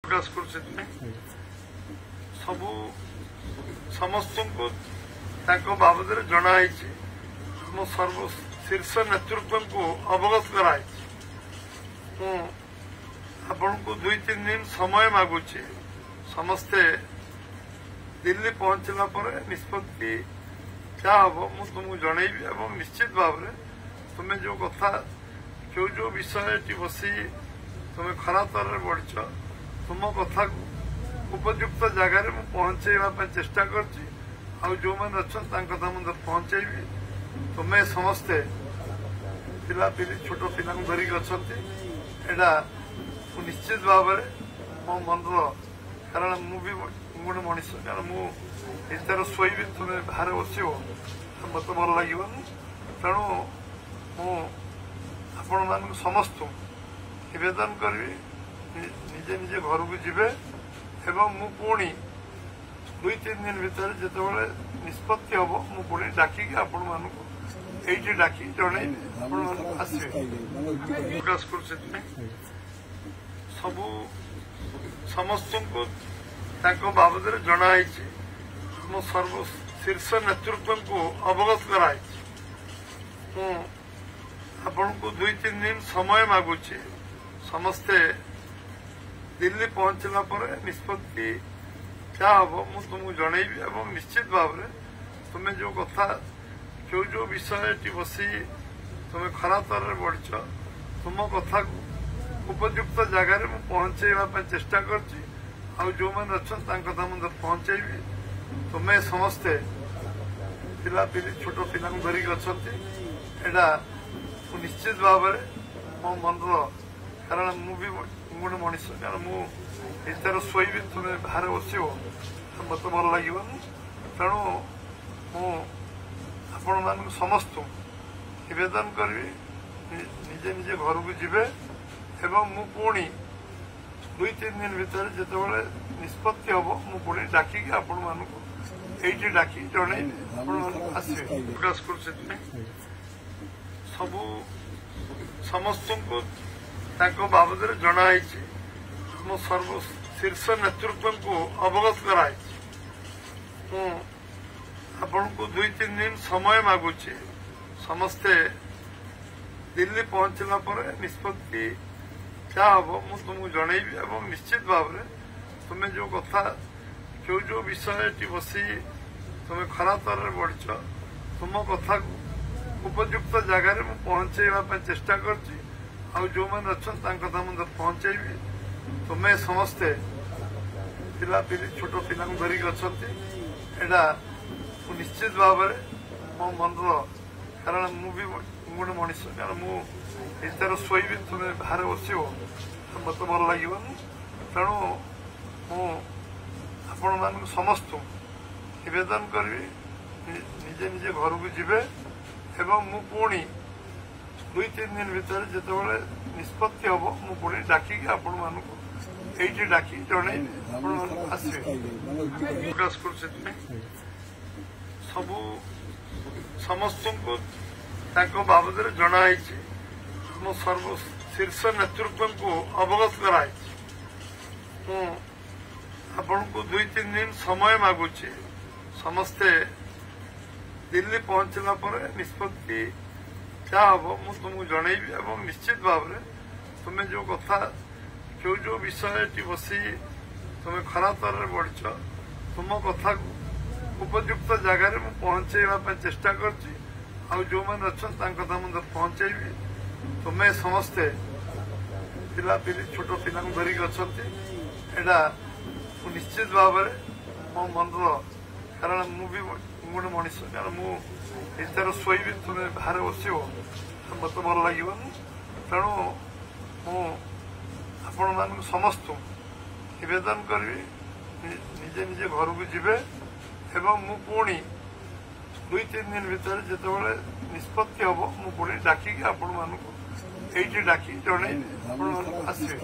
ପ୍ରକାଶ କରୁଛି। ସେଥିପାଇଁ ସବୁ ସମସ୍ତଙ୍କୁ ତାଙ୍କ ବାବଦରେ ଜଣା ହେଇଛି, ଆମ ସର୍ବ ଶୀର୍ଷ ନେତୃତ୍ୱଙ୍କୁ ଅବଗତ କରାହେଇଛି। ମୁଁ ଆପଣଙ୍କୁ 2-3 ଦିନ ସମୟ ମାଗୁଛି। ସମସ୍ତେ ଦିଲ୍ଲୀ ପହଞ୍ଚିଲା ପରେ ନିଷ୍ପତ୍ତି ଯାହା ହବ ମୁଁ ତୁମକୁ ଜଣେଇବି ଏବଂ ନିଶ୍ଚିତ ଭାବରେ ତୁମେ ଯୋଉ କଥା, ଯୋଉ ଯୋଉ ବିଷୟଟି ବସି ତୁମେ ଖରାତରରେ ବଢିଛ, ତୁମ କଥାକୁ ଉପଯୁକ୍ତ ଜାଗାରେ ମୁଁ ପହଞ୍ଚେଇବା ପାଇଁ ଚେଷ୍ଟା କରୁଛି। ଆଉ ଯୋଉମାନେ ଅଛନ୍ତି ତାଙ୍କ କଥା ମଧ୍ୟ ପହଞ୍ଚେଇବି। ତୁମେ ସମସ୍ତେ ପିଲାପିଲି ଛୋଟ ପିଲାଙ୍କୁ ଧରିକି ଅଛନ୍ତି, ଏଇଟା ମୁଁ ନିଶ୍ଚିତ ଭାବରେ ମୋ ମନର, କାରଣ ମୁଁ ବି ଗୋଟେ ମଣିଷ, କାରଣ ମୁଁ ଭିତରେ ଶୋଇବି, ତୁମେ ବାହାରେ ବସିବ, ମୋତେ ଭଲ ଲାଗିବନି। ତେଣୁ ମୁଁ ଆପଣମାନଙ୍କୁ ସମସ୍ତଙ୍କୁ ନିବେଦନ କରିବି, ନିଜେ ନିଜେ ଘରକୁ ଯିବେ ଏବଂ ମୁଁ ପୁଣି 2-3 ଦିନ ଭିତରେ ଯେତେବେଳେ ନିଷ୍ପତ୍ତି ହବ ମୁଁ ପୁଣି ଡାକିକି ଆପଣମାନଙ୍କୁ ଏଇଠି ଡାକି ଜଣେଇବି, ଆପଣମାନଙ୍କୁ ଆସିବେ। ପ୍ରକାଶ କରୁଛି। ସେଥିପାଇଁ ସବୁ ସମସ୍ତଙ୍କୁ ତାଙ୍କ ବାବଦରେ ଜଣା ହେଇଛି, ଆମ ସର୍ବ ଶୀର୍ଷ ନେତୃତ୍ୱଙ୍କୁ ଅବଗତ କରାହେଇଛି। ମୁଁ ଆପଣଙ୍କୁ 2-3 ଦିନ ସମୟ ମାଗୁଛି। ସମସ୍ତେ ଦିଲ୍ଲୀ ପହଞ୍ଚିଲା ପରେ ନିଷ୍ପତ୍ତି ଯାହା ହବ ମୁଁ ତୁମକୁ ଜଣେଇବି ଏବଂ ନିଶ୍ଚିତ ଭାବରେ ତୁମେ ଯୋଉ କଥା, ଯୋଉ ଯୋଉ ବିଷୟଟି ବସି ତୁମେ ଖରାତରରେ ବଢିଛ, ତୁମ କଥାକୁ ଉପଯୁକ୍ତ ଜାଗାରେ ମୁଁ ପହଞ୍ଚେଇବା ପାଇଁ ଚେଷ୍ଟା କରୁଛି। ଆଉ ଯୋଉମାନେ ଅଛନ୍ତି ତାଙ୍କ କଥା ମଧ୍ୟ ପହଞ୍ଚେଇବି। ତୁମେ ସମସ୍ତେ ପିଲାପିଲି ଛୋଟ ପିଲାଙ୍କୁ ଧରିକି ଅଛନ୍ତି, ଏଇଟା ମୁଁ ନିଶ୍ଚିତ ଭାବରେ ମୋ ମନର, କାରଣ ମୁଁ ବି ଗୋଟେ ମଣିଷ, କାରଣ ମୁଁ ଭିତରେ ଶୋଇବି, ତୁମେ ବାହାରେ ବସିବ, ମୋତେ ଭଲ ଲାଗିବନି। ତେଣୁ ମୁଁ ଆପଣମାନଙ୍କୁ ସମସ୍ତଙ୍କୁ ନିବେଦନ କରିବି, ନିଜେ ନିଜେ ଘରକୁ ଯିବେ ଏବଂ ମୁଁ ପୁଣି 2-3 ଦିନ ଭିତରେ ଯେତେବେଳେ ନିଷ୍ପତ୍ତି ହବ ମୁଁ ପୁଣି ଡାକିକି ଆପଣମାନଙ୍କୁ ଏଇଠି ଡାକି ଜଣେଇବି, ଆପଣମାନଙ୍କୁ ଆସିବେ। ପ୍ରକାଶ କରୁଛି। ସେଥିପାଇଁ ସବୁ ସମସ୍ତଙ୍କୁ ତାଙ୍କ ବାବଦରେ ଜଣା ହେଇଛି, ଆମ ସର୍ବ ଶୀର୍ଷ ନେତୃତ୍ୱଙ୍କୁ ଅବଗତ କରାହେଇଛି। ମୁଁ ଆପଣଙ୍କୁ 2-3 ଦିନ ସମୟ ମାଗୁଛି। ସମସ୍ତେ ଦିଲ୍ଲୀ ପହଞ୍ଚିଲା ପରେ ନିଷ୍ପତ୍ତି ଯାହା ହବ ମୁଁ ତୁମକୁ ଜଣେଇବି ଏବଂ ନିଶ୍ଚିତ ଭାବରେ ତୁମେ ଯୋଉ କଥା, ଯୋଉ ଯୋଉ ବିଷୟଟି ବସି ତୁମେ ଖରାତରରେ ବଢିଛ, ତୁମ କଥାକୁ ଉପଯୁକ୍ତ ଜାଗାରେ ମୁଁ ପହଞ୍ଚେଇବା ପାଇଁ ଚେଷ୍ଟା କରୁଛି। ଆଉ ଯୋଉମାନେ ଅଛନ୍ତି ତାଙ୍କ କଥା ମଧ୍ୟ ପହଞ୍ଚେଇବି। ତୁମେ ସମସ୍ତେ ପିଲାପିଲି ଛୋଟ ପିଲାଙ୍କୁ ଧରିକି ଅଛନ୍ତି, ଏଇଟା ମୁଁ ନିଶ୍ଚିତ ଭାବରେ ମୋ ମନର, କାରଣ ମୁଁ ବି ଗୋଟେ ମଣିଷ, କାରଣ ମୁଁ ଭିତରେ ଶୋଇବି, ତୁମେ ବାହାରେ ବସିବ, ମୋତେ ଭଲ ଲାଗିବନି। ତେଣୁ ମୁଁ ଆପଣମାନଙ୍କୁ ସମସ୍ତଙ୍କୁ ନିବେଦନ କରିବି, ନିଜେ ନିଜେ ଘରକୁ ଯିବେ ଏବଂ ମୁଁ ପୁଣି 2-3 ଦିନ ଭିତରେ ଯେତେବେଳେ ନିଷ୍ପତ୍ତି ହବ ମୁଁ ପୁଣି ଡାକିକି ଆପଣମାନଙ୍କୁ ଏଇଠି ଡାକି ଜଣେଇବି, ଆପଣମାନଙ୍କୁ ଆସିବେ। ପ୍ରକାଶ କରୁଛି। ସେଥିପାଇଁ ସବୁ ସମସ୍ତଙ୍କୁ ତାଙ୍କ ବାବଦରେ ଜଣା ହେଇଛି, ଆମ ସର୍ବ ଶୀର୍ଷ ନେତୃତ୍ୱଙ୍କୁ ଅବଗତ କରାହେଇଛି। ମୁଁ ଆପଣଙ୍କୁ 2-3 ଦିନ ସମୟ ମାଗୁଛି। ସମସ୍ତେ ଦିଲ୍ଲୀ ପହଞ୍ଚିଲା ପରେ ନିଷ୍ପତ୍ତି ଯାହା ହବ ମୁଁ ତୁମକୁ ଜଣେଇବି ଏବଂ ନିଶ୍ଚିତ ଭାବରେ ତୁମେ ଯୋଉ କଥା, ଯୋଉ ଯୋଉ ବିଷୟଟି ବସି ତୁମେ ଖରାତରରେ ବଢିଛ, ତୁମ କଥାକୁ ଉପଯୁକ୍ତ ଜାଗାରେ ମୁଁ ପହଞ୍ଚେଇବା ପାଇଁ ଚେଷ୍ଟା କରୁଛି। ଆଉ ଯୋଉମାନେ ଅଛନ୍ତି ତାଙ୍କ କଥା ମଧ୍ୟ ପହଞ୍ଚେଇବି। ତୁମେ ସମସ୍ତେ ପିଲାପିଲି ଛୋଟ ପିଲାଙ୍କୁ ଧରିକି ଅଛନ୍ତି, ଏଇଟା ମୁଁ ନିଶ୍ଚିତ ଭାବରେ ମୋ ମନର, କାରଣ ମୁଁ ବି ଗୋଟେ ମଣିଷ, କାରଣ ମୁଁ ଭିତରେ ଶୋଇବି, ତୁମେ ବାହାରେ ବସିବ, ମୋତେ ଭଲ ଲାଗିବନି। ତେଣୁ ମୁଁ ଆପଣମାନଙ୍କୁ ସମସ୍ତଙ୍କୁ ନିବେଦନ କରିବି, ନିଜେ ନିଜେ ଘରକୁ ଯିବେ ଏବଂ ମୁଁ ପୁଣି 2-3 ଦିନ ଭିତରେ ଯେତେବେଳେ ନିଷ୍ପତ୍ତି ହବ ମୁଁ ପୁଣି ଡାକିକି ଆପଣମାନଙ୍କୁ ଏଇଠି ଡାକି ଜଣେଇବି, ଆପଣମାନଙ୍କୁ ଆସିବେ।